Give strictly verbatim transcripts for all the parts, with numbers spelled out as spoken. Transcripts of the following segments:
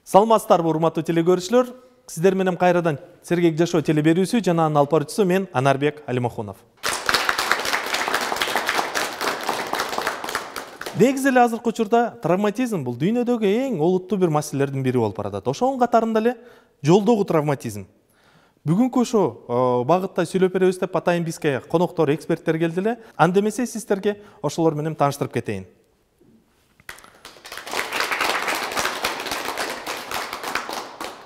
Саламатсыздарбы, урматтуу телекөрүүчүлөр. Сиздер менен кайрадан Сергек жашоо телеберүүсү жана анын алып баруучусу мен Анарбек Алимахунов. Негизи эле азыркы учурда травматизм бул дүйнөдөгү эң олуттуу бир маселелердин бири болуп баратат. Ошонун катарында эле жолдогу травматизм. Бүгүнкү ошо багытта сүйлөп беребиз деп атайын бизге коноктор, эксперттер келди эле. Анда эмесе сиздерге ошолор менен тааныштырып кетейин.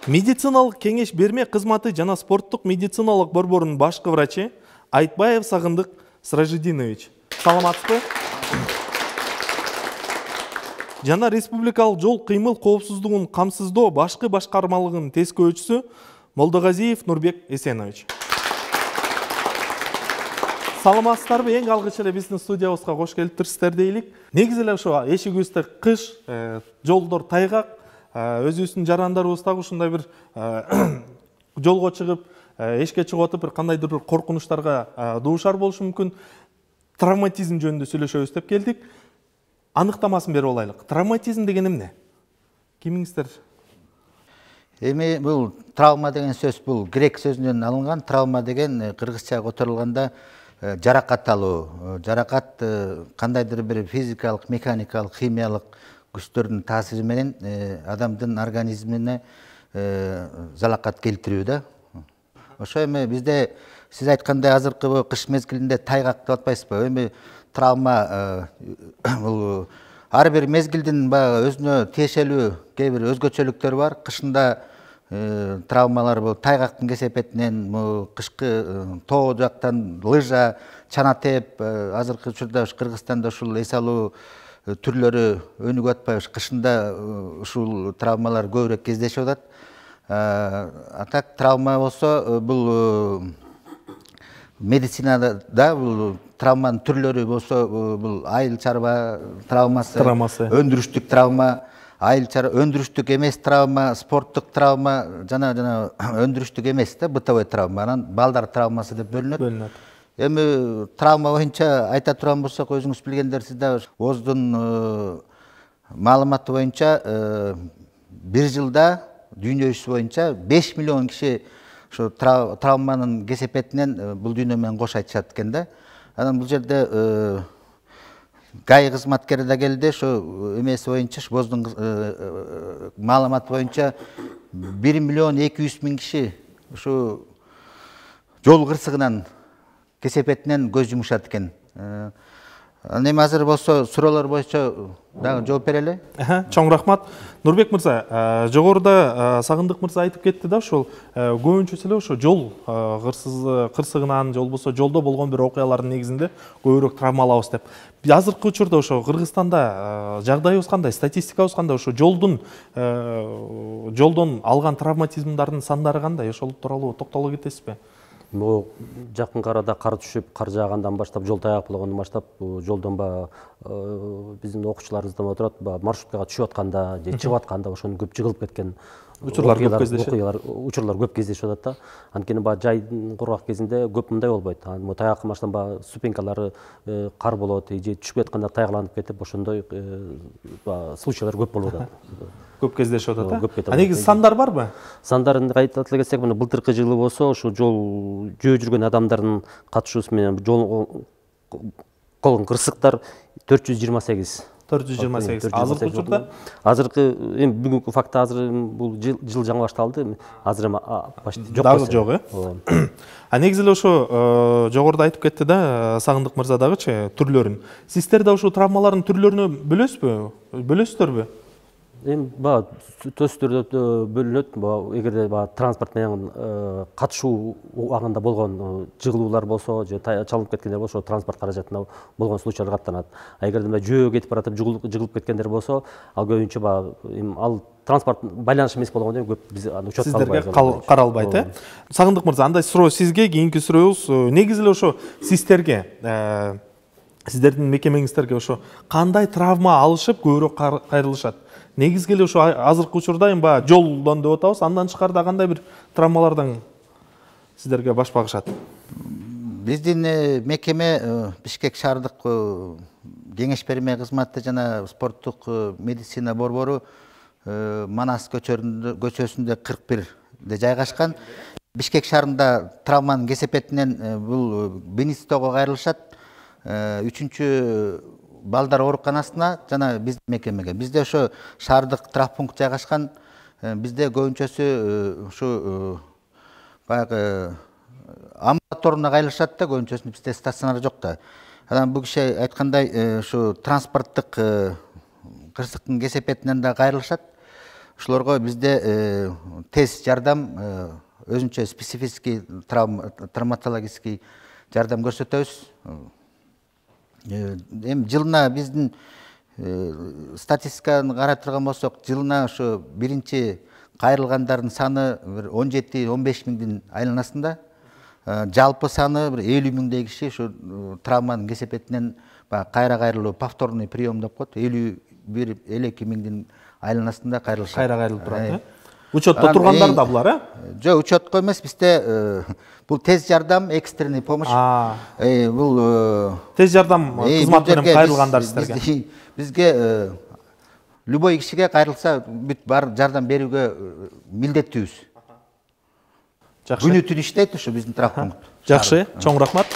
Медициналык кеңеш берме кызматы жана спорттук медициналык борборунун башкы врачы Айтбаев Сагындык Сражидинович. Саламатсызбы? Жана республикалык жол кыймыл коопсуздугун камсыздоо башкы башкармалыгынын тескөөчүсү Молдогазиев Нурбек Эсенович. Саламатсыздарбы? Эң алгыч эле биздин студиябызга кош келиптирсиздер дейлик. Негизи эле ошо эшигибизде кыш, жолдор тайгак, өзүбүздүн жарандарыбыз дагы ушундай бир жолго чыгып, эшикке чыгып атып, бир кандайдыр бир коркунучтарга дуушар болушу мүмкүн. Травматизм жөнүндө сүйлөшөбүз деп келдик. Аныктамасын берип алайлык. Травматизм деген эмне? Кимиңиздер? Эми бул травма деген сөз бул грек сөзүнөн алынган. Травма деген кыргызча которулганда жаракат алуу. Жаракат кандайдыр бир физикалык, механикалык, химиялык күчтөрдүн таасири менен адамдын организмине залакат келтирүү да. Ошо эми бизде сиз айткандай азыркы кыш мезгилинде тайгак деп атпайсызбы? Эми травма бул ар бир мезгилдин баягы өзүнө тиешелүү кээ бир өзгөчөлүктөрү бар. Кышында травмалар бул тайгактын кесепетинен, кышкы тоо жактан лыжа, чана теп, азыркы учурда Кыргызстанда ушул эс алуу түрлөрү өнүгүп атпайбы? Кышында ушул травмалар көбүрөөк кездешип атат. А так травма болсо бул медицинада да бул травманын түрлөрү болсо бул айыл чарба травмасы, өндүрүштүк травма, айыл чарба, өндүрүштүк эмес травма, спорттук травма жана жана өндүрүштүк эмес да бытовой травма, анан балдар травмасы деп бөлүнөт. Бөлүнөт. Эми травма боюнча айта турган болсок, өзүңүз билгендерсиз да, ооздун маалыматы боюнча бир жылда дүйнө жүзү боюнча беш миллион киши ошо травманын кесепетинен бул дүйнө менен кош айтышат экен да. Анан бул жерде гай кызматкери да келди, ошо эмеси боюнча, ооздун маалыматы боюнча бир миллион эки жүз миң киши ушу жол кырсыгынан кесепетинен көз жумушат экен. Анан эми азыр болсо суроолор боюнча дагы жооп берели. Чоң рахмат. Нурбек мырза, жогоруда Сагындык мырза айтып кетти да, ошол көбүнчөсү эле ошо жол кырсыгынан, же болбосо жолдо болгон бир окуялардын негизинде көбүрөөк травма алабыз деп. Азыркы учурда ошо Кыргызстанда жагдайыбыз кандай, статистикабыз кандай, ошо жолдун жолдон алган травматизмдардын сандары кандай? Ошол тууралуу токтоло кетесизби? Бул жакынкы арада кар түшүп, кар жаагандан баштап, жол тайгак болгондон баштап, жолдон баягы биздин окуучуларыбыздан отурат, маршруткага түшүп атканда же чыгып атканда ошонун көп жыгылып кеткен учурлар көп кездешет. Учурлар көп кездешип атат да. Анткени баягы жайдын кургак кезинде көп мындай болбойт. Тайгакка баштан баягы ступенькалары кар болот, же түшүп атканда тайгаланып кетип, ошондой случайлар көп болуп атат. Көп кездешип атат. А негизи сандар барбы? Сандарын айтып келсек, мына былтыркы жылы болсо, ошо жол жөө жүргөн адамдардын катышуусу менен жол болгон кырсыктар төрт жүз жыйырма сегиз. төрт жүз жыйырма сегиз. Азыркы учурда? Азыркы эми бүгүнкү факты азыр бул жыл жаңы башталды. Азыр эми почти жок. Дагы жок, э? А негизи эле ошо жогоруда айтып кетти да Сагындык мырза дагычы түрлөрүн. Сиздер да ушул травмалардын түрлөрүнө бөлөсүзбү? Бөлөсүздөрбү? Эми баягы төстөрдө бөлүнөт. Эгерде баягы транспорт менен катышуу убагында болгон жыгылуулар болсо, же чалынып кеткендер болсо, транспорт каражатына болгон случайлар каттанат. А эгерде жөө кетип баратып жыгылып кеткендер болсо, ал көбүнчө баягы ал транспорт байланыш эмес болгондон көп биз аны учетко албайбыз. Сиздерге каралбайт, э? Сагындык мырза, андай суроо сизге, кийинки сурообуз негизи эле ошо сиздерге, сиздердин мекемеңиздерге ошо кандай травма алышып көбүрөөк кайрылышат? Негизги эле ошо азыркы учурда эми баягы жолдон деп атабыз, андан тышкарыда кандай бир травмалардан сиздерге баш багышат? Биздин мекеме Бишкек шаардык кеңеш берме кызматы жана спорттук медицина борбору Манас көчөсүндө кырк бирде жайгашкан. Бишкек шаарында травманын кесепетинен бул Бенистого кайрылышат. Үчүнчү балдар ооруканасына жана биздин мекемеге. Бизде ошо шаардык травмпункт жайгашкан. Бизде көбүнчөсү ушу баягы амбулаторуна кайрылышат да, көбүнчөсү бизде стационар жок да. Анан бул киши айткандай ушу транспорттук кырсыктын кесепетинен да кайрылышат. Ушулорго бизде тез жардам, өзүнчө специфический травматологический жардам көрсөтөбүз. Эми жылына биздин статистиканы карап турган болсок, жылына ошо биринчи кайрылгандардын саны бир он жети он беш миңдин айланасында. Жалпы саны бир элүү миңдей киши ушу травманын кесепетинен кайра кайрылуу, повторный прием деп коет, элүү бир элүү эки миңдин айланасында кайрылышат. Кайра кайрылып турат, э? Учетто тургандар да булар, э? Жок, учетко эмес, бизде бул тез жардам, экстренный помощь. Бул тез жардам кызматы менен кайрылгандар сиздерге. Бизге любой кишиге кайрылса бүт бар жардам берүүгө милдеттүүбүз. Жакшы. Күнү түн иштейт ушу биздин травмпункт. Жакшы, чоң рахмат.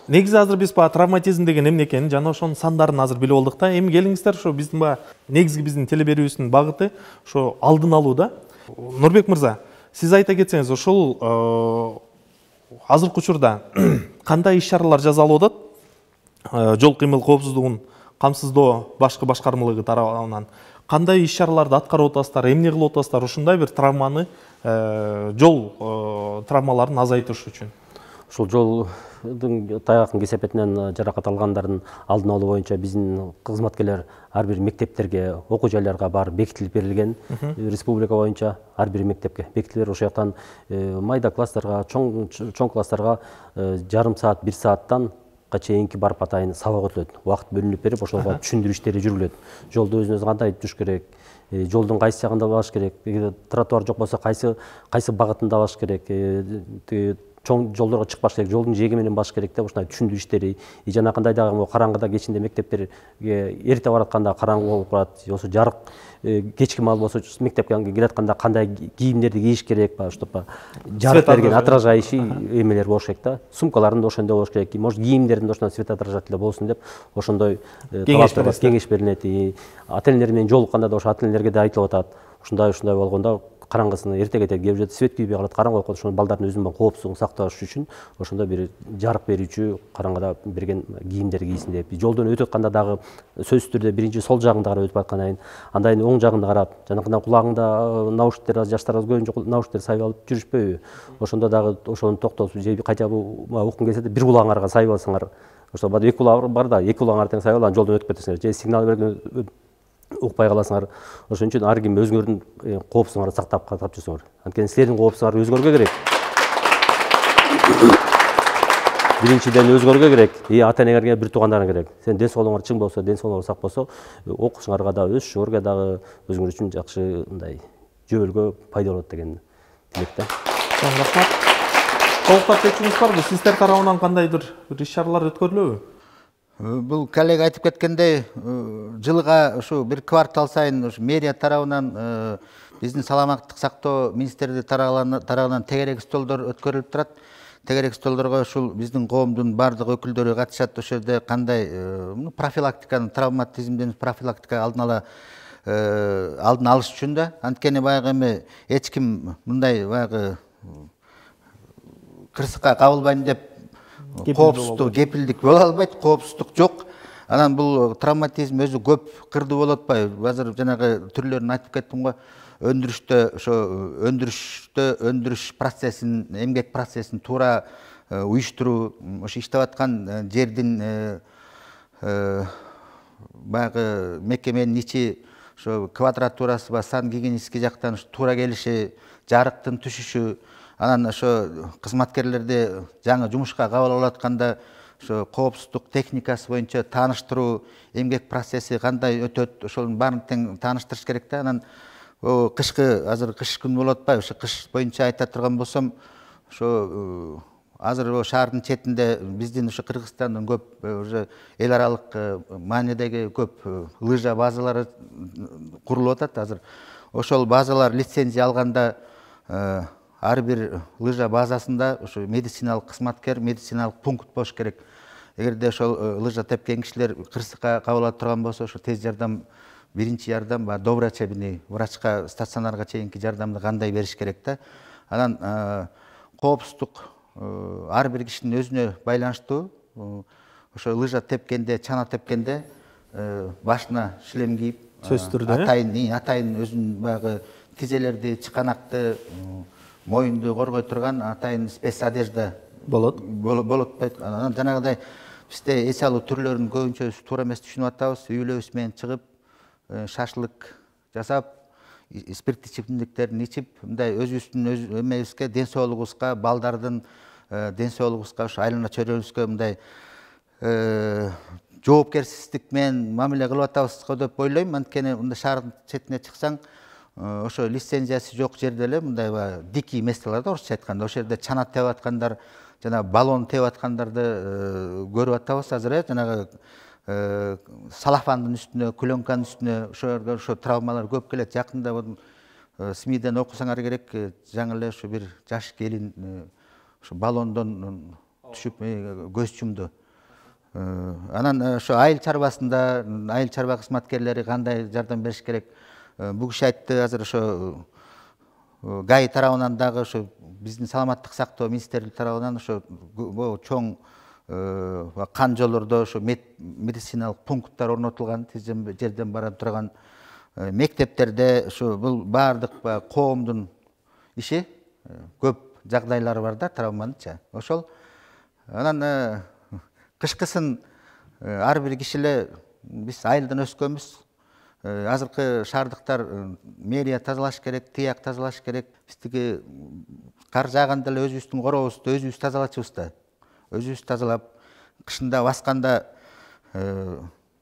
Негизи азыр биз баягы травматизм деген эмне экенин жана ошонун сандарын азыр билип болдук да. Эми келиңиздер, ошо биздин баягы негизги биздин теле берүүбүздүн багыты ошо алдын алуу да. Нурбек мырза, сиз айта кетсеңиз, ошол азыркы учурда кандай иш-чаралар жасалып атат? Жол кыймыл коопсуздугун камсыздоо башкы башкармалыгы тарабынан кандай иш-чараларды аткарып атасыздар, эмне кылып атасыздар ушундай бир травманы, жол травмаларын азайтыш үчүн? Ушул жолдун тайгактын кесепетинен жаракат алгандардын алдын алуу боюнча биздин кызматкерлер ар бир мектептерге, окуу жайларга барып бекитилип берилген. Республика боюнча ар бир мектепке бекитилип, ошол жактан майда класстарга, чоң чоң класстарга жарым саат, бир сааттан чейинки барып атайын сабак өтүлөт. Убакыт бөлүнүп берип, ошого түшүндүрүү иштери жүрүлөт. Жолду өзүнөз кандай туш керек, жолдун кайсы жагында баш керек, тротуар жок болсо кайсы кайсы багытында баш керек, чоң жолдорго чыкпаш керек, жолдун жээги менен баш керек деп ушундай түшүндүрүү иштери, жана кандай дагы караңгыда кечинде мектептерге эрте баратканда караңгы болуп калат, болсо жарык кечки маал болсо мектепке келатканда кандай кийимдерди кийиш керек, ошто жарык берген отражающий эмелер болуш керек да. Сумкаларын да ошондой болуш керек, может кийимдердин ошондой светоотражатель болсун деп ошондой кеңеш берилет. Ата-энелер менен жолукканда да ошо ата-энелерге да айтылып атат. Ушундай ушундай болгондо караңгысына эрте кетет, келип жатат, свет күйбөй калат, караңгы болуп калат. Ошондо балдардын өзүнүн коопсуздугун сакташ үчүн ошондой бир жарык берүүчү караңгыда берген кийимдерди кийсин деп. Жолдон өтүп атканда дагы сөзсүз түрдө биринчи сол жагында карап өтүп аткандан кийин, андан кийин оң жагында карап, жанакындан кулагыңда наушниктер, жаштарыбыз көбүнчө наушниктер сайып алып жүрүшпөйбү? Ошондо дагы ошону токтотуп, же кайда уккуң келсе бир кулагыңарга сайып алсаңар, ошо эки кулагың бар да, эки кулагыңар тең сайып алып жолдон өтүп кетесиңер. Же сигнал берген укпай каласыңар. Ошон үчүн ар ким өзүңөрдүн коопсуздугуңарды сактап катап жүрсөңөр. Анткени силердин коопсуздугуңар өзгөргө керек. Биринчиден өзгөргө керек, и ата-энеңерге, бир туугандарыңа керек. Сен ден соолугуңар чың болсо, ден соолугуңар сак болсо, окуушуңарга да, өсүшүңөргө дагы өзүңөр үчүн жакшы мындай жөбөлгө пайда болот деген тилек да. Чоң рахмат. Толуктап кетүүңүз барбы? Сиздер тарабынан кандайдыр бир иш-чаралар өткөрүлөбү? Бул коллега айтып кеткендей, жылга ушу бир квартал сайын мэрия тарабынан биздин саламаттык сактоо министрлиги тарабынан тегерек столдор өткөрүлүп турат. Тегерек столдорго ушул биздин коомдун бардык өкүлдөрү катышат. Ошол жерде кандай профилактиканы, травматизмден профилактика алдын ала алдын алыш үчүн да. Анткени баягы эми эч ким мындай баягы кырсыкка кабылбайм деп коопсуздук, кепилдик боло албайт, коопсуздук жок. Анан бул травматизм өзү көп кырдуу болуп атпайбы? Азыр жанагы түрлөрүн айтып кеттим го. Өндүрүштө ошо өндүрүштө өндүрүш процессин, эмгек процессин туура уюштуруу, ошо иштеп аткан жердин баягы мекеменин ичи ошо квадратурасы ба сан гигиенический жактан туура келиши, жарыктын түшүшү, анан ошо кызматкерлерди жаңы жумушка кабыл алып атканда ошо коопсуздук техникасы боюнча тааныштыруу, эмгек процесси кандай өтөт, ошонун баарын тең тааныштырыш керек да. Анан кышкы, азыр кыш күн болуп атпайбы? Ошо кыш боюнча айта турган болсом, ошо азыр шаардын четинде биздин ушу Кыргызстандын көп уже эл аралык маанидеги көп лыжа базалары курулуп атат. Азыр ошол базалар лицензия алганда ар бир лыжа базасында ушу медициналык кызматкер, медициналык пункт болуш керек. Эгерде ошол лыжа тепкен кишилер кырсыкка кабыла турган болсо, ошо тез жардам, биринчи жардам, доврачебный врачка, стационарга чейинки жардамды кандай бериш керек да. Анан коопсуздук ар бир кишинин өзүнө байланыштуу. Ошо лыжа тепкенде, чана тепкенде башына шлем кийип, сөзсүз түрдө атайын, атайын өзүнүн баягы тизелерди, чыканакты, моюнду коргой турган атайын спец одежда болот. Болот. Анан жанагыдай бизде эс алуу түрлөрүн көбүнчө туура эмес түшүнүп атабыз. Үй бүлөбүз менен чыгып, шашлык жасап, спирттик ичимдиктерин ичип, мындай өзүбүздүн өз эмебизге, ден соолугубузга, балдардын ден соолугубузга, ошо айлана чөйрөбүзгө мындай жоопкерсиздик менен мамиле кылып атабыз деп ойлойм. Анткени мындай шаардын четине чыксаң, ошо лицензиясы жок жерде эле мындай дикий месталар да, орусча айтканда, ошол жерде чана тебип аткандар, жана баллон тебип аткандарды көрүп атабыз азыр. Жанагы салафандын үстүнө, клёнканын үстүнө ошолорго ошо травмалар көп келет. Жакында СМИден окусаңар керек, жаңы эле ошо бир жаш келин ошо баллондон түшүп көз жумду. Анан ошо айыл чарбасында айыл чарба кызматкерлери кандай жардам бериш керек? Бул киши айтты, азыр ошо ГАИ тарабынан дагы ошо биздин саламаттык сактоо министрлиги тарабынан ошо чоң кан жолдордо ошо медициналык пункттар орнотулган, тез жерден бара турган. Мектептерде ошо бул баардык коомдун иши, көп жагдайлары бар да травманыча. Ошол анан кышкысын ар бир киши эле, биз айылдан өскөнбүз. Азыркы шаардыктар мэрия тазалаш керек, тияк тазалаш керек. Биздики кар жааганда эле өзүбүздүн коробузду өзүбүз тазалачубуз да. Өзүбүз тазалап, кышында басканда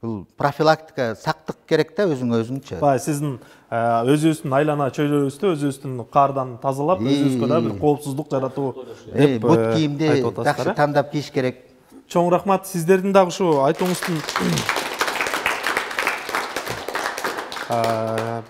бул профилактика, сактык керек да өзүңө өзүңчө. Бай, сиздин өзүбүздүн айлана чөйрөбүздү өзүбүздүн кардан тазалап, өзүбүзгө да бир коопсуздук жаратуу деп бут кийимди жакшы тандап кийиш керек. Чоң рахмат. Сиздердин дагы ушу айтууңуздун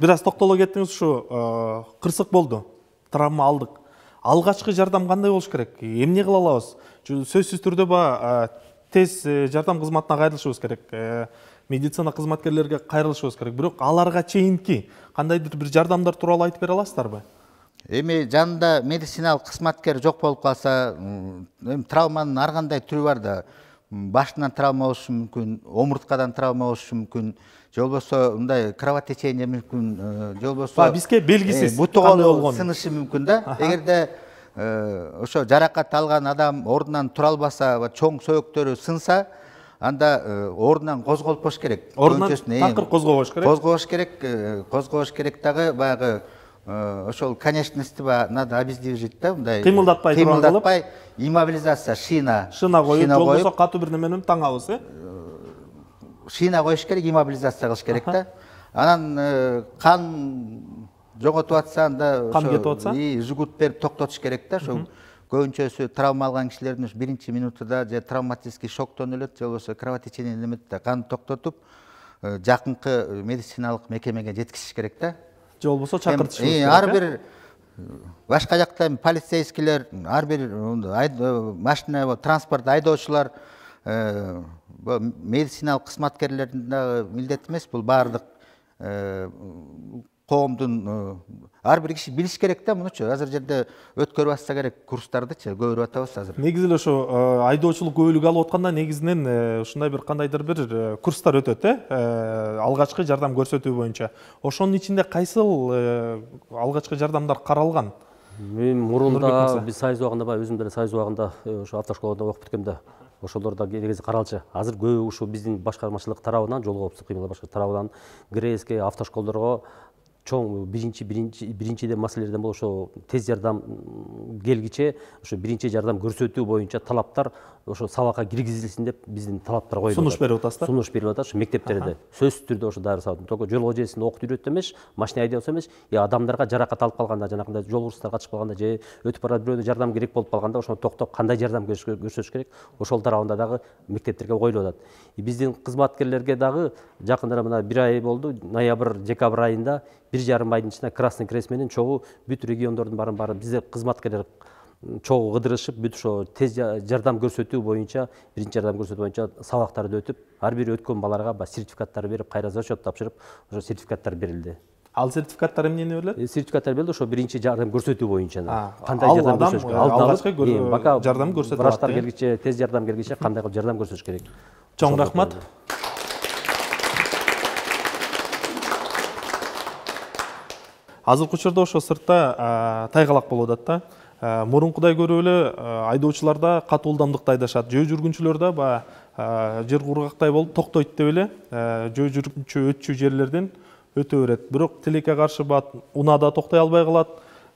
бир аз токтоло кеттиңиз. Ушу кырсык болду, травма алдык. Алгачкы жардам кандай болуш керек? Эмне кыла алабыз? Сөзсүз түрдө баягы тез жардам кызматына кайрылышыбыз керек. Медицина кызматкерлерге кайрылышыбыз керек. Бирок аларга чейинки кандайдыр бир жардамдар тууралуу айтып бере аласыздарбы? Эми жанында медициналык кызматкер жок болуп калса, эми травманын ар кандай түрү бар да. Башынан травма болушу мүмкүн, омурткадан травма болушу мүмкүн, же болбосо мындай кровотечение мүмкүн, же болбосо бизге белгисиз буту колу сынышы мүмкүн да. Эгерде ошо жаракат алган адам ордунан тура албаса, чоң сөөктөрү сынса, анда ордунан козголуп болуш керек. Ордунан такыр козгобош керек. Козгобош керек, козгобош керек дагы баягы ошол конечности надо обездвижить да, мындай кыймылдатпай турган кылып, кыймылдатпай, иммобилизация, шина, шина коюп, же болбосо катуу бир неменен таңабыз, э? Шина коюш керек, иммобилизация кылыш керек да. Анан кан жоготуп атса, анда кан кетип атса, жигут берип токтотуш керек да. Ошо көбүнчөсү травма алган кишилердин биринчи минутуда же травматический шоктон өлөт, же болбосо кровотечение немет да, кан токтотуп жакынкы медициналык мекемеге жеткизиш керек да. Же болбосо чакыртышыбыз керек. Ар бир башка жакта полицейскийлер, ар бир машина, транспорт айдоочулар, медициналык кызматкерлердин дагы милдети эмес, бул баардык коомдун ар бир киши билиш керек да мунучу. Азыр жерде өткөрүп атса керек курстардычы, көбүрөөк атабыз азыр. Негизи эле ошо айдоочулук көбүлүк алып атканда негизинен ушундай бир кандайдыр бир курстар өтөт, э? Алгачкы жардам көрсөтүү боюнча. Ошонун ичинде кайсыл алгачкы жардамдар каралган? Мен мурунда биз сайыз убагында, өзүм деле сайыз убагында ошо автошколада окуп бүткөндө ошолордо негизи каралчу. Азыр көбү ушу биздин башкармачылык тарабынан, жол коопсуздук кыймылдар башкармачылык тарабынан ГРЭСке, автошколдорго чоң биринчи биринчи биринчиден маселелерден бул ошо тез жардам келгиче ошо биринчи жардам көрсөтүү боюнча талаптар ошо сабакка киргизилсин деп биздин талаптар коюлуп сунуш берип атасыз да? Сунуш берип атат. Ошо мектептерде сөзсүз түрдө ошо дайыр сабак. Только жол эжесин окуп үйрөтүү эмес, машина айдоосу эмес, я адамдарга жаракат алып калганда, жанагындай жол кырсыздарга чыгып калганда же өтүп барат бирөөнө жардам керек болуп калганда ошону токтоп кандай жардам көрсөтүш керек, ошол тарабында дагы мектептерге коюлуп атат. Биздин кызматкерлерге дагы жакында мына бир ай болду, ноябрь декабрь айында бир жарым айдын ичинде Красный Крест менен чогуу бүт региондордун баарын баары бизде кызматкерлер чогуу кыдырышып, бүт ошо тез жардам көрсөтүү боюнча, биринчи жардам көрсөтүү боюнча сабактарды өтүп, ар бир өткөн баларга сертификаттар берип, кайра зачет тапшырып, ошо сертификаттар берилди. Ал сертификаттар эмнени берилет? Сертификаттар берилди ошо биринчи жардам көрсөтүү боюнча. Кандай жардам көрсөтүш керек? Алгачкы жардам көрсөтүп атат. Врачтар келгиче, тез жардам келгиче кандай кылып жардам көрсөтүш керек? Чоң рахмат. Азыркы учурда ошо сыртта тайгалак болуп атат да. Мурункудай көрүп эле айдоочуларда катуу ылдамдыкта айдашат. Жөө жүргүнчүлөр да баягы жер кургактай болуп токтойт деп эле жөө жүргүнчү өтчү жерлерден өтө берет. Бирок тилекке каршы унаада токтой албай калат.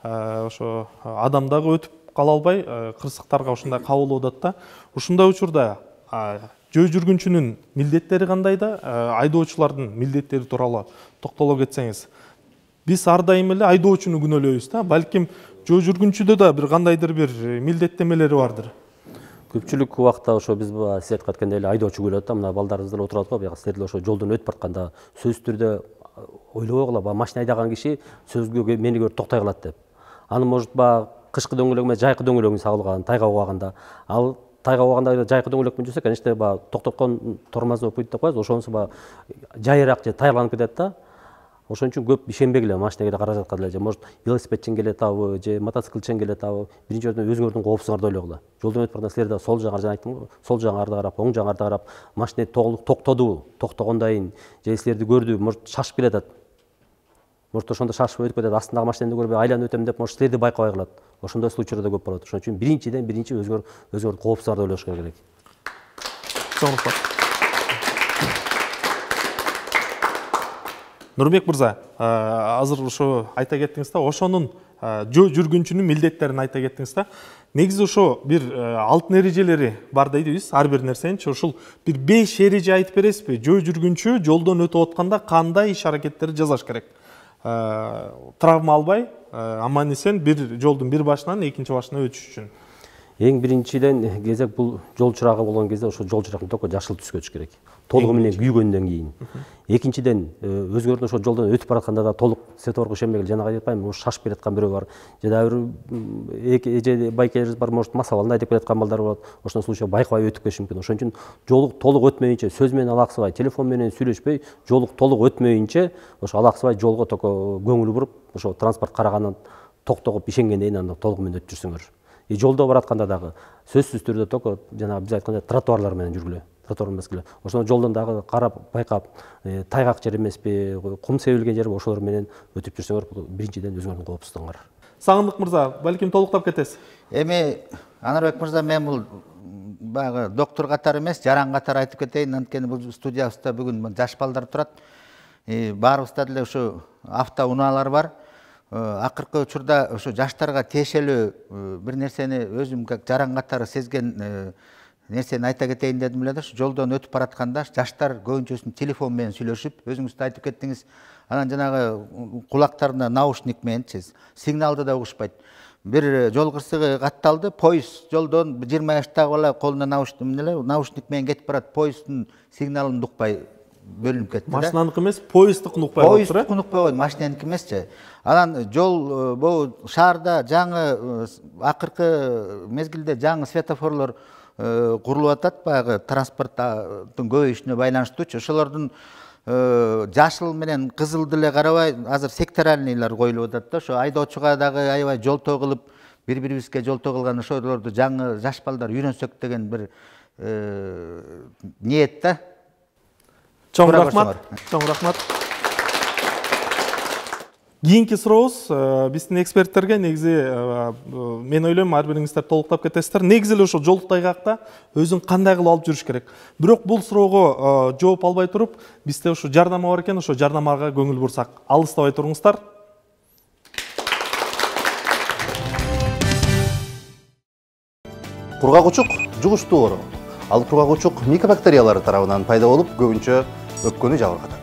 Ошо адам дагы өтүп кала албай кырсыктарга ушундай кабылып атат да. Ушундай учурда жөө жүргүнчүнүн милдеттери кандай да, айдоочулардын милдеттери тууралуу токтоло кетсеңиз. Биз ар дайым эле айдоочуну күнөөлөйбүз да, балким жөө жүргүнчүдө да бир кандайдыр бир милдеттемелери бардыр. Көпчүлүк убакта ошо биз сиз айткан эткендей эле айдоочу күлөт да, мына балдарыбыздар отурат го, бияка силер деле ошо жолдон өтүп баратканда сөзсүз түрдө ойлобой калат, машина айдаган киши сөзгө мени көрүп токтой калат деп. Аны может баягы кышкы дөңгөлөк эмес, жайкы дөңгөлөгүн сагылган, тайга убагында. Ал тайга убагында жайкы дөңгөлөк менен жүрсө, конечно, баягы токтоткон тормозной путь деп коебуз, ошонусу баягы жайыраак же тайгаланып кетет да. Ошон үчүн көп ишенбегиле машинеге каражатка деле, же может велосипедчен келетабы, же мотоциклчен келетабы, биринчи ордон өзүңөрдүн коопсуңарды ойлогула. Жолдон өтүп барганда силер да сол жагыңарга, жана айттым го, сол жагыңарды карап, оң жагыңарды карап, машина толук токтоду, токтогондойн, же силерди көрдү, может шашып келатат. Может ошондо шашып өтүп кетет, астындагы машинаны көрбөй айланып өтөм деп, может силерди байкабай калат. Ошондой случайлар да көп болот. Ошон үчүн биринчиден биринчи өзүңөр өзүңөрдүн коопсуңарды ойлош керек. Соңку Нурбек мырза, азыр ошо айта кеттиңиз да, ошонун жөө жүргүнчүнүн милдеттерин айта кеттиңиз да. Негизи ошо бир алтын эрежелери бар дейбиз, ар бир нерсеничи. Ошол бир беш эреже айтып бересизби? Жөө жүргүнчү жолдон өтүп атканда кандай иш аракеттерди жасаш керек? Травма албай, аман эсен бир жолдун бир башынан экинчи башына өтүш үчүн. Эң биринчиден кезек бул жол чырагы болгон кезде ошо жол чырагын только жашыл түскө өтүш керек. Толугу менен күйгөндөн кийин. Экинчиден өзгөрдүн ошо жолдон өтүп баратканда да толук светофорго ишенбегиле. Жанагы айтпаймынбы, ошо шашып келаткан бирөө бар. Же дагы бир эже байкелерибиз бар, может масабалын айдап келаткан балдар болот. Ошондой случайда байкабай өтүп кетиши мүмкүн. Ошон үчүн жолу толук өтмөйүнчө, сөз менен алаксыбай, телефон менен сүйлөшпөй, жолу толук өтмөйүнчө ошо алаксыбай жолго только көңүл буруп, ошо транспорт караганын токтогуп ишенгенден кийин анда толугу менен өтүп жүрсөңөр. И жолдо баратканда дагы сөзсүз түрдө только жана биз айткандай тротуарлар менен жүргүлө. Тротуар мезгиле. Ошондо жолдон дагы карап, байкап, тайгак жер эмеспи, кум себилген жер ошолор менен өтүп жүрсөңөр, биринчиден өзүңөрдүн коопсуздугуңар. Сагындык мырза, балким толуктап кетесиз. Эми Анарбек мырза, мен бул баягы доктор катары эмес, жаран катары айтып кетейин. Анткени бул студиябызда бүгүн жаш балдар турат. Баарыбызда деле ошо автоунаалар бар. Акыркы учурда ошо жаштарга тиешелүү бир нерсени өзүм как жаран катары сезген нерсени айта кетейин дедим эле да. Ошо жолдон өтүп баратканда жаштар көбүнчөсүн телефон менен сүйлөшүп, өзүңүз да айтып кеттиңиз, анан жанагы кулактарына наушник менен сигналды да угушпайт. Бир жол кырсыгы катталды, поезд жолдон жыйырма жаштагы бала колуна наушник менен кетип барат, поезддин сигналын укпай бөлүнүп кетти да. Машинаныкы эмес, поезддыкын укпай калып тур. Поезддыкын укпай койду, машинаныкы эмесчи. Анан жол бул шаарда жаңы акыркы мезгилде жаңы светофорлор курулуп атат, баягы транспорттун көбөйүшүнө байланыштуучу. Ошолордун жашыл менен кызыл деле карабай, азыр секторальныйлар коюлуп атат да. Ошо айдоочуга дагы аябай жолтоо кылып, бири-бирибизге жолтоо кылган ошолорду жаңы жаш балдар үйрөнсөк деген бир ниет да. Чоң рахмат. Чоң рахмат. Кийинки сурообуз биздин эксперттерге, негизи мен ойлойм ар бириңиздер толуктап кетесиздер. Негизи эле ошо жол тайгакта өзүн кандай кылып алып жүрүш керек. Бирок бул суроого жооп албай туруп, бизде ошо жардама бар экен, ошо жардамага көңүл бурсак. Алыстабай туруңуздар. Кургак учук жугуштуу оору. Ал кургак учук микобактериялар тарабынан пайда болуп, көбүнчө өпкөнү жабыркатат.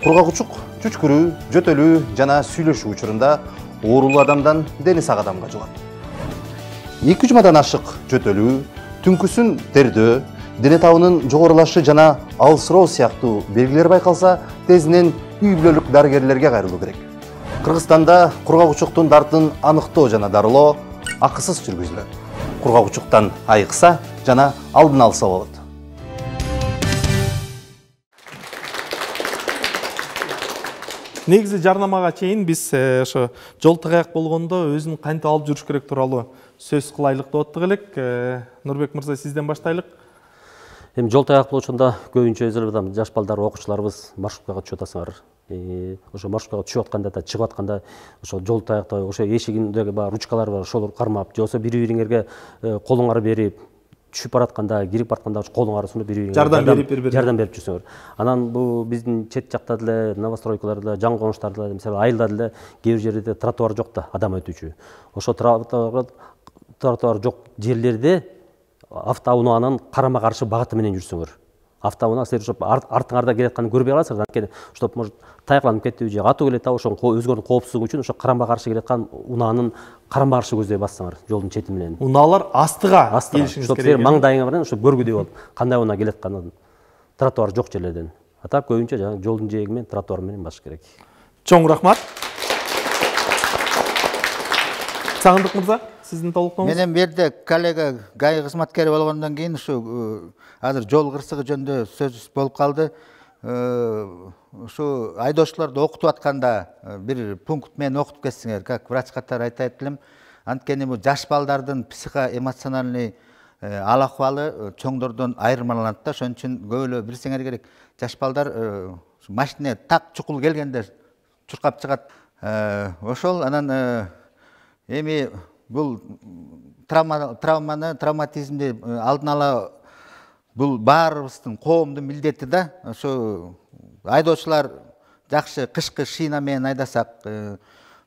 Кургак учук чүчкүрүү, жөтөлүү жана сүйлөшүү учурунда оорулуу адамдан дени сак адамга жугат. эки жумадан ашык жөтөлүү, түнкүсүн тердөө, дене табынын жогорулашы жана алсыроо сыяктуу белгилер байкалса, тезинен үй бүлөлүк дарыгерлерге кайрылуу керек. Кыргызстанда кургак учуктун дартын аныктоо жана дарылоо акысыз жүргүзүлөт. Кургак учуктан айыкса жана алдын алса болот. Негизи жарнамага чейин биз ошо жол тыгаяк болгондо өзүн кантип алып жүрүш керек тууралуу сөз кылайлык деп аттык элек. Нурбек мырза, сизден баштайлык. Эми жол тыгаяк болушунда көбүнчө өзү жаш балдар, окуучуларыбыз маршруткага түшүп атасыңар. Ошо маршруткага түшүп атканда да, чыгып атканда ошо жол таякта ошо эшигиндеги бар ручкалар бар, ошол кармап, же болбосо бири-бириңерге колуңарды берип, түшүп баратканда, кирип баратканда колуңарды сунуп бири-бириңерге жардам берип бири-бирине жардам берип жүрсөңөр. Анан бул биздин чет жакта деле, новостройкаларда, жаңы конуштарда, мисалы айылда деле кээ бир жерде тротуар жок да, адам өтүүчү. Ошо тротуар жок жерлерде автоунаанын карама каршы багыты менен жүрсөңөр. Автоунаа силер ошо артыңарда келатканын көрбөй каласыңар. Анткени ошо может таякланып кетиби же атуу келет да, ошо өзгөрүнүн коопсуздугу үчүн ошо карама каршы келаткан унаанын карама каршы көздөй бассаңар жолдун чети менен. Унаалар астыга келишиңиз керек. Силер маңдайыңар менен ошо көргүдөй болуп, кандай унаа келатканын тротуар жок жерлерден. Ата көбүнчө жана жолдун жээги менен тротуар менен басыш керек. Чоң рахмат. Сагындык мырза, сиздин толуктооңуз? Менен бу жерде коллега ГАИ кызматкери болгондон кийин ушу азыр жол кырсыгы жөнүндө сөз болуп калды. Ушу айдоочуларды окутуп атканда бир пункт менен окутуп кетсеңер, как врач катары айтайт элем. Анткени бул жаш балдардын психоэмоциональный ал акыбалы чоңдордон айырмаланат да. Ошон үчүн көп эле билсеңер керек. Жаш балдар машина так чукул келгенде чуркап чыгат. Ошол анан эми бул травманы, травматизмди алдын ала бул баарыбыздын коомдун милдети да. Ошо айдоочулар жакшы кышкы шина менен айдасак,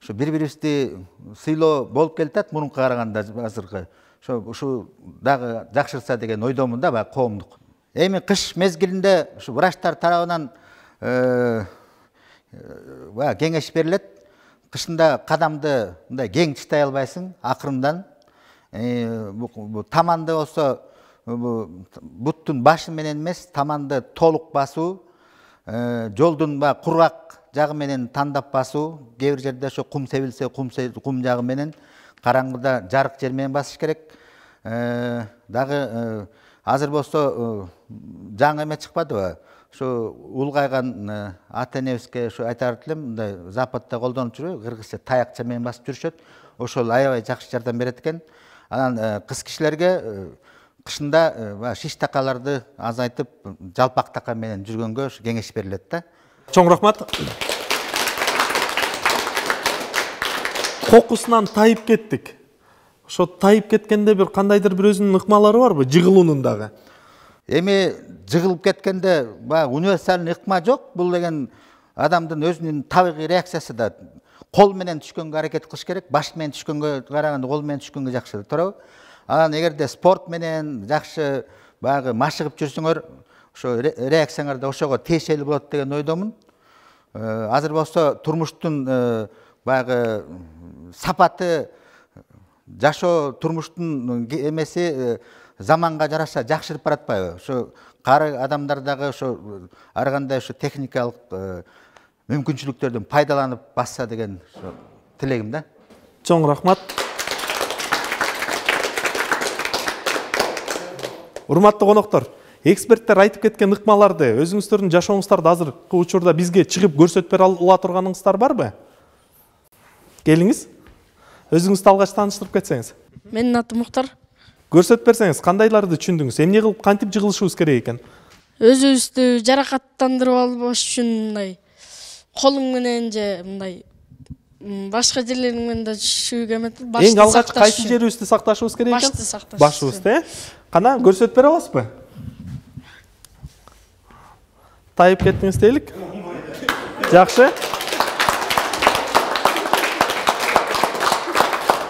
ошо бири-бирибизди сыйлоо болуп келатат мурункуга караганда азыркы. Ошо ушу дагы жакшырса деген ойдомун да, баягы коомдук. Эми кыш мезгилинде ушу врачтар тарабынан баягы кеңеш берилет. Кышында кадамды мындай кең тыштай албайсың, акырындан. Бу таманды болсо буттун башы менен эмес, таманды толук басуу, жолдун баягы кургак жагы менен тандап басуу, кээ бир жерде ошо кум себилсе, кум жагы менен, караңгыда жарык жер менен басыш керек. Дагы азыр болсо жаңы эме чыкпадыбы? Ошо улгайган ата-энебизге ошо айтар элем, мындай Западта колдонуп жүрөт, кыргызча таякча менен басып жүрүшөт. Ошол аябай жакшы жардам берет экен. Анан кыз кишилерге кышында шиш такаларды азайтып, жалпак така менен жүргөнгө кеңеш берилет да. Чоң рахмат. Кокусунан тайып кеттик. Ошо тайып кеткенде бир кандайдыр бир өзүнүн ыкмалары барбы, жыгылуунун дагы? Эми жыгылып кеткенде баягы универсальный ыкма жок. Бул деген адамдын өзүнүн табигый реакциясы да. Кол менен түшкөнгө аракет кылыш керек. Баш менен түшкөнгө караганда кол менен түшкөнгө жакшы, туурабы? Анан эгерде спорт менен жакшы баягы машыгып жүрсөңөр, ошо реакцияңар да ошого тиешелүү болот деген ойдомун. Азыр болсо турмуштун баягы сапаты, жашоо турмуштун эмеси заманга жараша жакшырып баратпайбы? Ошо кары адамдар дагы ошо ар кандай ошо техникалык мүмкүнчүлүктөрдөн пайдаланып басса деген тилегим да. Чоң рахмат. Урматтуу коноктор, эксперттер айтып кеткен ыкмаларды өзүңүздөрдүн жашооңуздарда азыркы учурда бизге чыгып көрсөтүп бере ала турганыңыздар барбы? Келиңиз. Өзүңүздү алгач тааныштырып кетсеңиз. Менин атым Муктар. Көрсөтүп берсеңиз, кандайларды түшүндүңүз? Эмне кылып кантип жыгылышыбыз керек экен? Өзүбүздү жаракаттандырып албаш үчүн мындай колуң менен же мындай башка жерлериң менен да түшүүгө эметип, башты сакташ. Эң алгач кайсы жерибизди сакташыбыз керек экен? Башты сакташ. Башыбызды, э? Кана көрсөтүп бере аласызбы? Тайып кеттиңиз дейлик. Жакшы.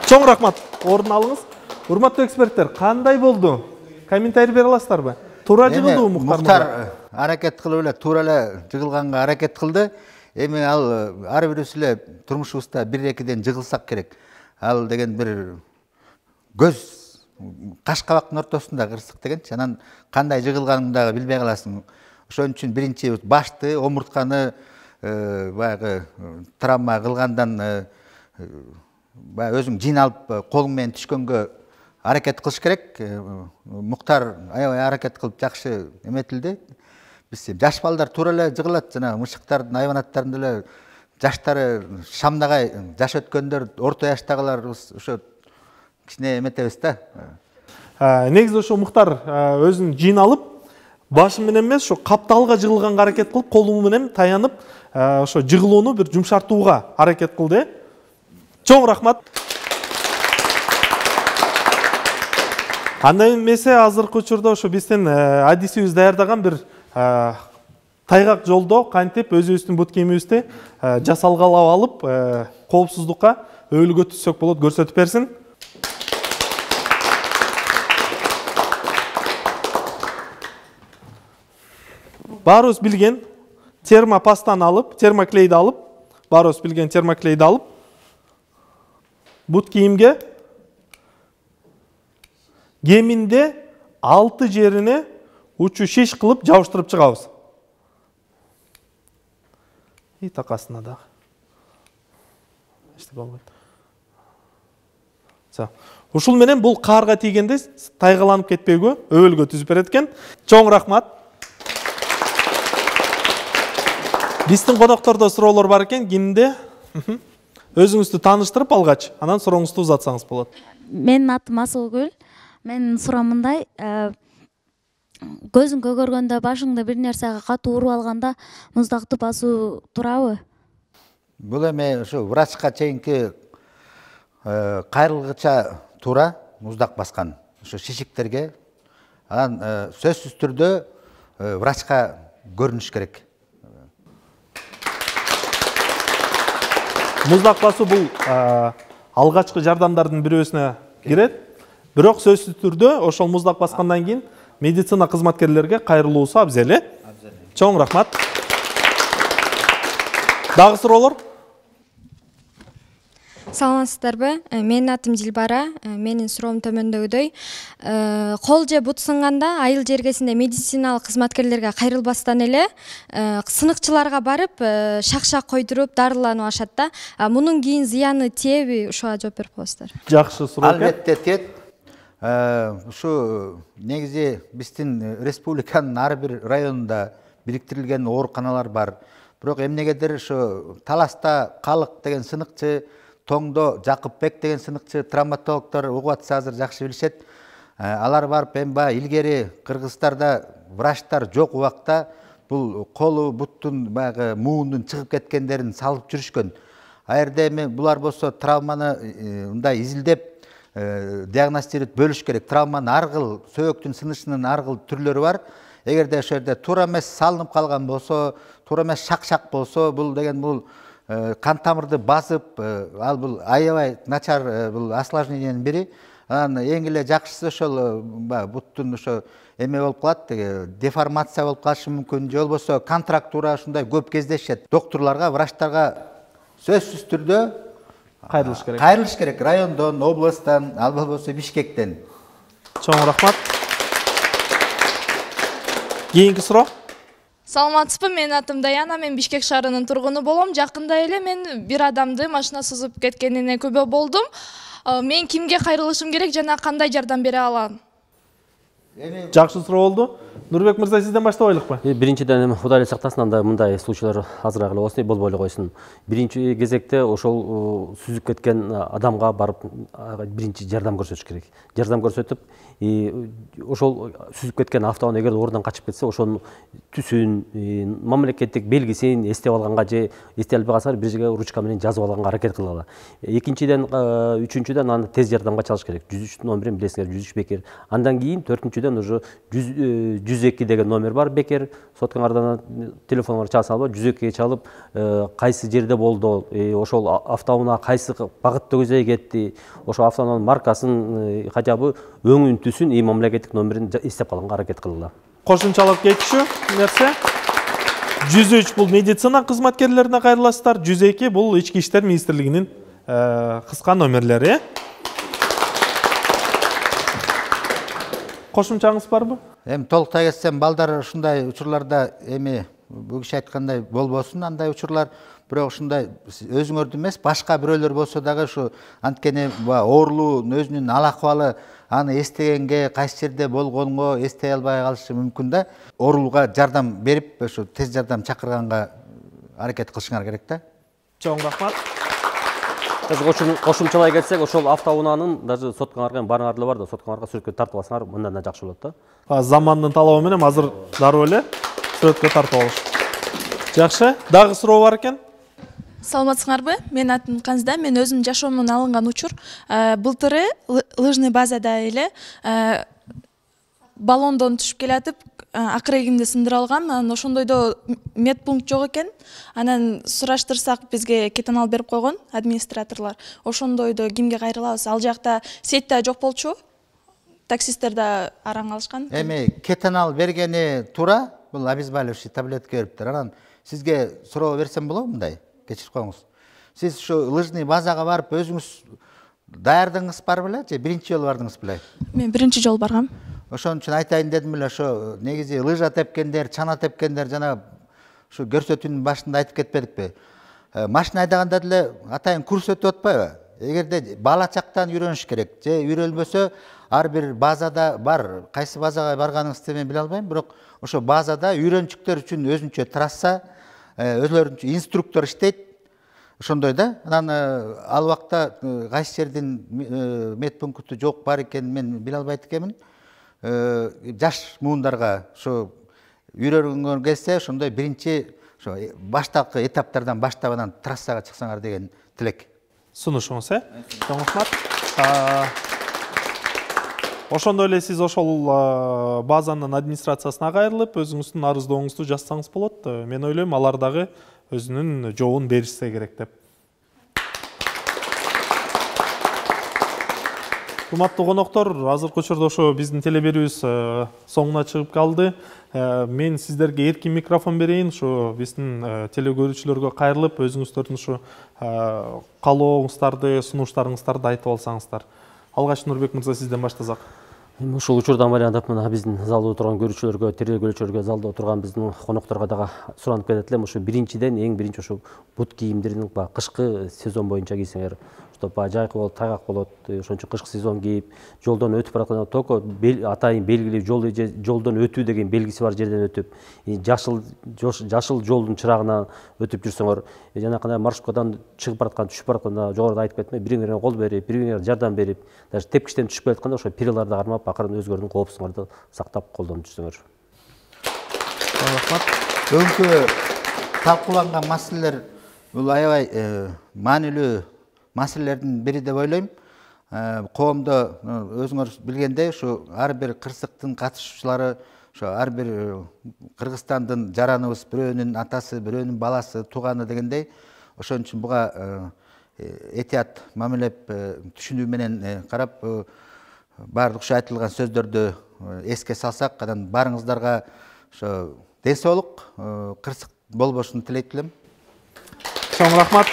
Чоң рахмат. Ордун алыңыз. урматтуу эксперттер, кандай болду? Комментарий бере аласыздарбы? Туура жыгылдыбы Муктар? Муктар аракет кылып эле туура эле жыгылганга аракет кылды. Эми ал ар бирибиз эле турмушубузда бир экиден жыгылсак керек. Ал деген бир көз каш кабактын ортосунда кырсык дегенчи. Анан кандай жыгылганыңды дагы билбей каласың. Ошон үчүн биринчи башты, омуртканы баягы травма кылгандан баягы өзүң жин алып колуң менен түшкөнгө аракет кылыш керек. Муктар аябай аракет кылып жакшы эметилди. Биз жаш балдар туура эле жыгылат, жана мышыктардын, айванаттардын эле жаштары шамнагай, жаш өткөндөр, орто жаштагыларыбыз ошо кичине эметебиз да. Негизи ошо Муктар өзүн жин алып, башы менен эмес, ошо капталга жыгылганга аракет кылып, колу менен таянып, ошо жыгылууну бир жумшартууга аракет кылды. Чоң рахмат. Андай эмесе азыркы учурда ошо биздин адисибиз даярдаган бир тайгак жолдо кантип өзүбүздүн бут кийимибизди жасалгалап алып, коопсуздукка өбөлгө түзсөк болот, көрсөтүп берсин. Баарыбыз билген термопастаны алып, термоклейди алып, баарыбыз билген термоклейди алып, бут кийимге кеминде алты жерине учу шиш кылып жабыштырып чыгабыз. И такасына дагы. Эчтеке болбойт. Ушул менен бул каарга тийгенде тайгаланып кетпейгө, өбөлгө түзүп берет экен. Чоң рахмат. Биздин коноктордо суроолор бар экен, кимде? Өзүңүздү тааныштырып алгач, анан сурооңузду узатсаңыз болот. Менин атым Асылгүл. Менин суроом мындай, көзүң көгөргөндө, башыңда бир нерсеге катуу уруп алганда муздакты басуу туурабы? Бул эми ушу врачка чейинки кайрылгыча туура муздак баскан ушу шишиктерге. Анан сөзсүз түрдө врачка көрүнүш керек. Муздак басуу бул алгачкы жардамдардын бирөөсүнө кирет. Бирок сөзсүз түрдө ошол муздак баскандан кийин медицина кызматкерлерге кайрылуусу абзел. Чоң рахмат. Дагы суроолор? Саламатсыздарбы? Менин атым Дилбара. Менин суроом төмөндөгүдөй. Кол же бут сынганда айыл жергесинде медициналык кызматкерлерге кайрылбастан эле сыныкчыларга барып, шак-шак койдуруп, дарыланып ашат да. Мунун кийин зыяны тиеби? Ушуга жооп берип коесуздар. Жакшы суроо экен. Албетте тиет. Ушу негизи биздин республиканын ар бир районунда бириктирилген ооруканалар бар. Бирок эмнегедир ошо Таласта Калык деген сыныкчы, Тоңдо Жакыпбек деген сыныкчы, травматологдор угуп атса азыр жакшы билишет. Алар барып эми баягы илгери Кыргызстарда врачтар жок убакта бул колу, буттун баягы муундун чыгып кеткендерин салып жүрүшкөн. А жерде эми булар болсо травманы мындай изилдеп диагностировать бөлүш керек. Травманын ар кыл, сөөктүн сынышынын ар кыл түрлөрү бар. Эгерде ошол жерде туура эмес салынып калган болсо, туура эмес шак-шак болсо, бул деген бул кан тамырды басып, ал бул аябай начар бул осложнениянын бири. Анан эң эле жакшысы ошол буттун ошо эме болуп калат, деформация болуп калышы мүмкүн, же болбосо контрактура ушундай көп кездешет. Доктурларга, врачтарга сөзсүз түрдө кайрылыш керек. Кайрылыш керек райондон, областтан, ал болбосо Бишкектен. Чоң рахмат. Кийинки суроо. Саламатсызбы, менин атым Даяна, мен Бишкек шаарынын тургуну болом. Жакында эле мен бир адамды машина сызып кеткенине күбө болдум. Мен кимге кайрылышым керек жана кандай жардам бере алам? Жакшы суроо болду. Нурбек мырза, сизден баштабайлыкпы? Биринчиден эми Кудай сактасын, анда мындай случайлар азыраак эле болсун, болбой эле койсун. Биринчи кезекте ошол сүзүп кеткен адамга барып биринчи жардам көрсөтүш керек. Жардам көрсөтүп, ошол сүзүп кеткен автоунаа эгер ордунан качып кетсе, ошонун түсүн, мамлекеттик белгисин эстеп алганга же эстей албай калса бир жерге ручка менен жазып алганга аракет кылгыла. Экинчиден, үчүнчүдөн аны тез жардамга чалыш керек. жүз үч номерин билесиңер, жүз үч бекер. Андан кийин төртүнчүдөн уже жүз жүз эки деген номер бар, бекер. Соткаңардан телефонгор чалса албай, жүз экиге чалып, кайсы жерде болду, ошол автоунаа кайсы багытта көзөй кетти, ошол автоунаанын маркасын, качабы өңүн түсүн и мамлекеттик номерин эстеп калганга аракет кылгыла. Кошумчалык кетишүү нерсе. жүз үч бул медицина кызматкерлерине кайрыласыздар, жүз эки бул Ички иштер министрлигинин кыска номерлери. Кошумчаңыз барбы? Эми толуктай кетсем, балдар ушундай учурларда эми бул киши айткандай болбосун андай учурлар, бирок ушундай өзүңөрдү эмес, башка бирөөлөр болсо дагы ушу анткени оорулуу өзүнүн ал акыбалы аны эстегенге, кайсы жерде болгонго эстей албай калышы мүмкүн да. Оорулууга жардам берип, ошо тез жардам чакырганга аракет кылышыңар керек да. Чоң рахмат. Кошумчалай кетсек, ошол автоунаанын даже соткаңарга барыңар эле бар да, соткаңарга сүрөткө тартып алсаңар мындан да жакшы болот да. Замандын талабы менен азыр дароо эле сүрөткө тартып алыш. Жакшы, дагы суроо бар экен. Саламатсыңарбы? Менин атым Канзда, мен өзүм жашоомдон алынган учур. Былтыры лыжный базада эле баллондон түшүп келатып, акырегимди сындырып алгам. Анан ошондойдо медпункт жок экен. Анан сураштырсак бизге кетен алып берип койгон администраторлор. Ошондойдо кимге кайрылабыз? Ал жакта сетте жок болчу. Таксисттер да араң алышкан. Эми кетен алып бергени туура, бул обезболивающий таблетка бериптир. Анан сизге суроо берсем болобу мындай? Кечирип коюңуз. Сиз ушу лыжный базага барып өзүңүз даярдыңыз бар беле же биринчи жолу бардыңыз беле? Мен биринчи жолу баргам. Ошон үчүн айтайын дедим эле, ошо негизи лыжа тепкендер, чана тепкендер жана ушу көрсөтүүнүн башында айтып кетпедикпи? Машина айдаганда деле атайын курс өтүп атпайбы? Эгерде бала чактан үйрөнүш керек, же үйрөнбөсө ар бир базада бар. Кайсы базага барганыңызды мен биле албайм, бирок ошо базада үйрөнчүктөр үчүн өзүнчө трасса, өзлөрүнчө инструктор иштейт. Ошондой да. Анан ал убакта кайсы жердин медпункту жок бар экенин мен биле албайт экенмин. Жаш муундарга ошо үйрөнгөнгө келсе, ошондой биринчи ошо баштапкы этаптардан баштап анан трассага чыксаңар деген тилек. Сунушуңуз, э? Чоң рахмат. Ошондой эле сиз ошол базанын администрациясына кайрылып, өзүңүздүн арыздооңузду жазсаңыз болот. Мен ойлойм, алар дагы өзүнүн жообун беришсе керек деп. Урматтуу коноктор, азыркы учурда ошо биздин телеберүүбүз соңуна чыгып калды. Мен сиздерге эркин микрофон берейин, ошо биздин телекөрүүчүлөргө кайрылып, өзүңүздөрдүн ошо каалооңуздарды, сунуштарыңыздарды айтып алсаңыздар. Алгач Нурбек мырза, сизден баштасак. Ушул учурдан байланып мына биздин залда отурган көрүүчүлөргө, телекөрүүчүлөргө, залда отурган биздин конокторго дагы суранып кетет элем. Ошо биринчиден эң биринчи ошо бут кийимдерин кышкы сезон боюнча кийсеңер, жайкы болот, тайгак болот, ошон үчүн кышкы сезон кийип, жолдон өтүп баратканда только атайын белгилүү жол жолдон өтүү деген белгиси бар жерден өтүп, жашыл жашыл жолдун чырагынан өтүп жүрсөңөр, жана кандай маршруткадан чыгып бараткан, түшүп баратканда жогоруда айтып кеттим, бириңерге кол берип, бириңерге жардам берип, даже тепкичтен түшүп келатканда ошо периларды кармап, акырын өзгөрдүн коопсуздугуңарды сактап колдонуп жүрсөңөр. Рахмат. Бүгүнкү талкууланган маселелер бул аябай маанилүү маселелердин бири деп ойлойм. Коомдо өзүңөр билгендей, ушу ар бир кырсыктын катышуучулары, ошо ар бир Кыргызстандын жараныбыз, бирөөнүн атасы, бирөөнүн баласы, тууганы дегендей, ошон үчүн буга этият мамилеп, түшүнүү менен карап, баардык ушу айтылган сөздөрдү эске салсак, анан баарыңыздарга ошо ден соолук, кырсык болбошун тилейт элем. Чоң рахмат.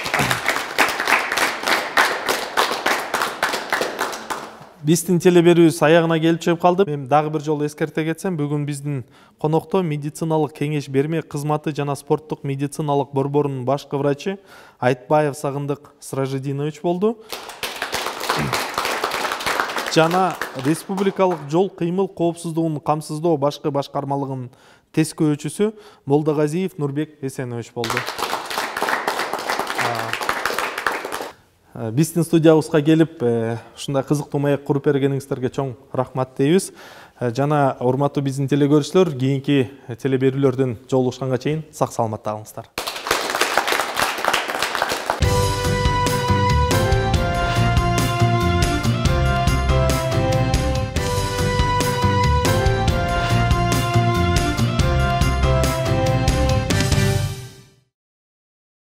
Биздин телеберүүбүз аягына келип чыгып калды. Мен дагы бир жолу эскерте кетсем, бүгүн биздин конокто медициналык кеңеш берме кызматы жана спорттук медициналык борборунун башкы врачы Айтбаев Сагындык Сражидинович болду. Жана республикалык жол кыймыл коопсуздугун камсыздоо башкы башкармалыгынын тескөөчүсү Молдогазиев Нурбек Эсенович болду. Биздин студиябызга келип, ушундай кызыктуу маек куруп бергениңиздерге чоң рахмат дейбиз. Жана урматтуу биздин телекөрүүчүлөр, кийинки телеберүүлөрдөн жолугушканга чейин сак саламатта калыңыздар.